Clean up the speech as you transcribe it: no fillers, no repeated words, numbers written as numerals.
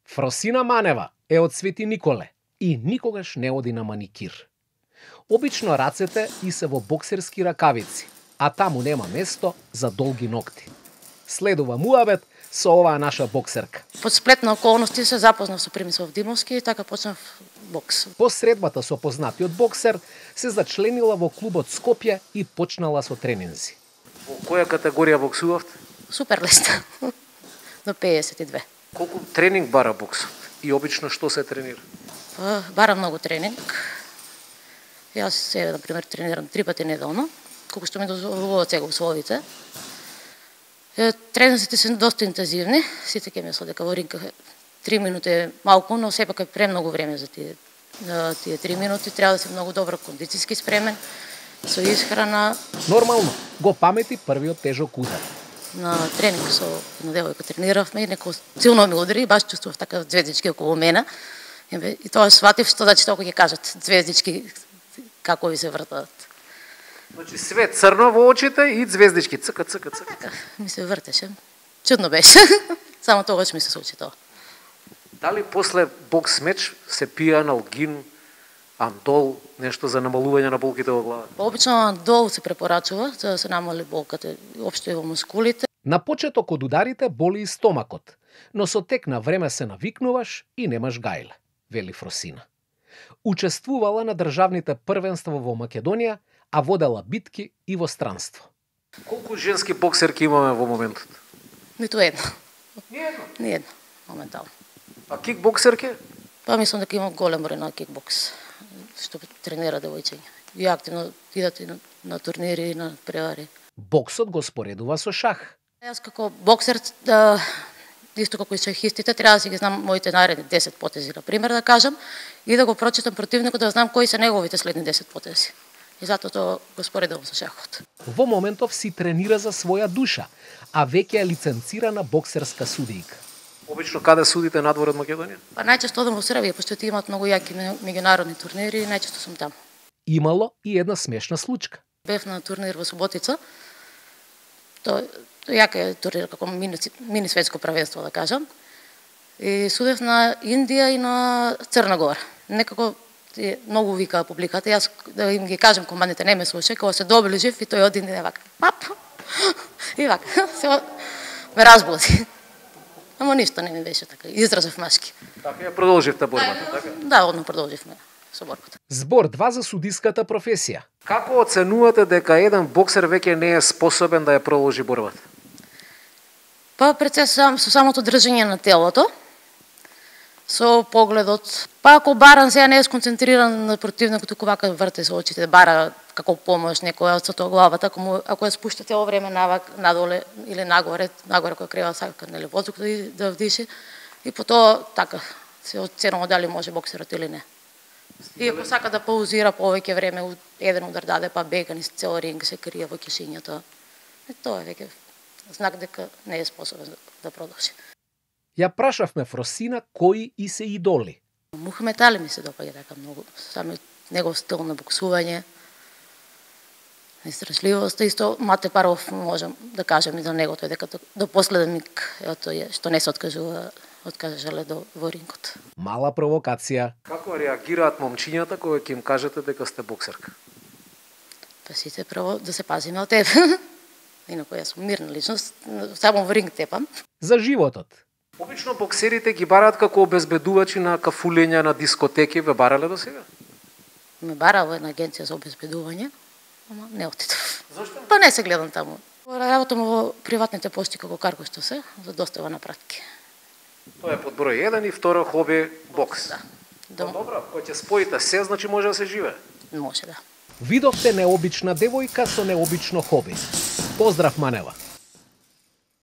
Фросина Манева е од Свети Николе и никогаш не оди на маникир. Обично рацете и се во боксерски ракавици, а таму нема место за долги ногти. Следува муабет со оваа наша боксерка. Под сплет на околности се запознав со Примислав Димовски и така почнав бокс. По средбата со познатиот боксер се зачленила во клубот Скопје и почнала со тренинзи. Во која категорија боксувавте? Супер леста. До 52. Колку тренинг бара боксот? И обично што се тренира? Бара многу тренинг. Јас се, например, тренирам 3 пати неделно, колку што ми дозволуваат сега условите. Тренинзите се доста интензивни, сите ќе мислат дека во ринг 3 минути е малку, но сепак е премногу време за тие 3 минути. Треба да си многу добро кондицијски спремен, со исхрана. Нормално, го памети првиот тежок удар. На тренинг со една девојка трениравме и некој силно ми удари, баш чувствував така звездички околу мене. И тоа сватив што значи толку ќе кажат звездички како ви се вртат. Значи све црно во очите и звездички цка. Така, ми се вртеше. Чудно беше. Само тогаш ми се случи тоа. Дали после бокс меч се пие аналгин, андол, нешто за намалување на болките во главата? Обично андол се препорачува за да се намали болката општо и во мускулите. На почеток од ударите боли и стомакот, но со тек на време се навикнуваш и немаш гајле, вели Фросина. Учествувала на државните првенства во Македонија, а водела битки и во странство. Колку женски боксерки имаме во моментот? Ниту една. Ни едно. Моментално. А кикбоксерки? Па мислам дека има голем број на кикбокс, што тренира девојчиња. И активно идат и на турнири и на превари. Боксот го споредува со шах. Јас како боксер, исто како и шахистите, треба да си ги знам моите наредни 10 потези, на пример да кажам, и да го прочитам противникот да знам кои се неговите следни 10 потези. И затоа тоа го споредувам со шахот. Во моментов си тренира за своја душа, а веќе е лиценцирана боксерска судијка. Обично каде судите надвор од Македонија? Па најчесто одам во Србија, пошто ти имаат многу јаки меѓународни турнири и најчесто сум таму. Имало и една смешна случка. Бев на турнир во Суботица. Тоа јака е турнир како мини светско правенство, да кажам. И судев на Индија и на Црна Гора. Некако многу викаа публиката. Јас да им ги кажам командите не ме слуша, кога се доближив и тој од Индија вака. Пап! И вака. Се ме разбуди. Ама ништо не ми беше така. Изразов машки. Така ја продолживте борбата, така? Да, одно продолживме со борбата. Збор 2 за судиската професија. Како оценувате дека еден боксер веќе не е способен да ја продолжи борбата? Па пред се со самото држање на телото, со погледот. Па ако баран сега не е сконцентриран на противникот, туку вака врте со очите, бара како помош некоја од тоа главата, ако ја спушта цело време надоле или нагоре која крева сака нели воздух да вдиши, и потоа така се оценува дали може боксерот или не. И ако сака да паузира повеќе време, еден удар даде па бега низ цел ринг, се крие во кишињата. Тоа е веќе знак дека не е способен да продолжи. Ја прашавме Фросина кои и се идоли. Мухамед Али ми се допаѓа така многу, самиот негов стил на боксување, истражливост, исто Мате Паров можам да кажам и за него, тој дека до последен миг тој што не се откажале во рингот. Мала провокација. Како реагираат момчињата кога ќе им кажете дека сте боксерка? Па сите прво да се пазиме од тебе. Инаку јас сум мирна личност, само во ринг тепам. За животот. Обично боксерите ги бараат како обезбедувачи на кафулења на дискотеки, ве барале до сега? Ме барала една агенција за обезбедување, ама не отидов. Зошто? Па не се гледам таму. Работам во приватните пошти како каргошто се, за достава на пратки. Тоа е под број 1 и второ хоби бокс. Да. Добро, кога ќе споите се, значи може да се живее. Може да. Видовте необична девојка со необично хоби. Поздрав, Манева!